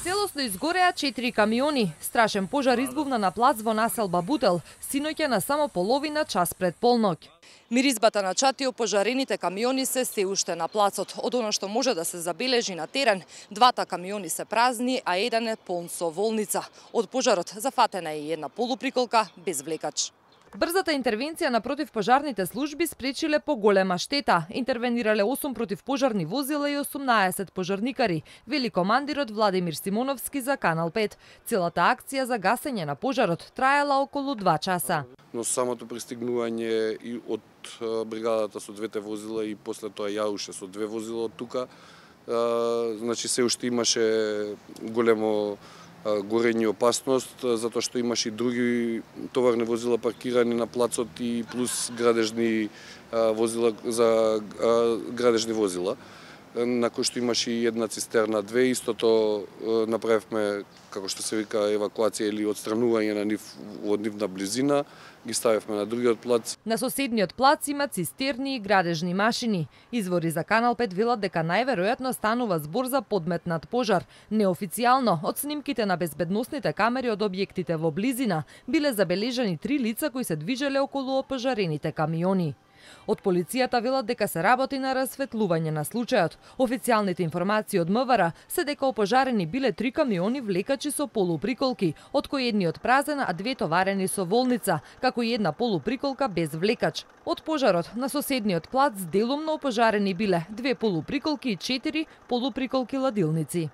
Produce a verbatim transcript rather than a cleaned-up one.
Целосно изгореа четири камиони. Страшен пожар избувна на плац во населба Бутел, синоќа на само половина час пред полноќ. Миризбата на чати опожарените камиони се се уште на плацот. Од оно што може да се забележи на терен, двата камиони се празни, а еден е полн со волница. Од пожарот зафатена е и една полуприколка без влекач. Брзата интервенција на противпожарните служби спречиле поголема штета. Интервенирале осум противпожарни возила и осумнаесет пожарникари, вели командирот Владимир Симоновски за Канал пет. Целата акција за гасење на пожарот траела околу два часа. Но самото пристигнување и од бригадата со двете возила и после тоа јауше со две возила од тука, значи се уште имаше големо горење и опасност, затоа што имаше и други товарни возила паркирани на плацот и плюс градежни возила за градежни возила, на кој што имаше и една цистерна, две. Истото направивме, како што се вика, евакуација или отстранување на нив од нивна близина, ги ставивме на другиот плац. На соседниот плац има цистерни и градежни машини. Извори за Канал пет велат дека најверојатно станува збор за подметнат пожар. Неофицијално, од снимките на безбедносните камери од објектите во близина, биле забележани три лица кои се движеле околу опожарените камиони. Од полицијата велат дека се работи на расветлување на случајот. Официјалните информации од МВР се дека опожарени биле три камиони влекачи со полуприколки, од кои едниот празен, а две товарени со волница, како и една полуприколка без влекач. Од пожарот на соседниот плац делумно опожарени биле две полуприколки и четири полуприколки ладилници.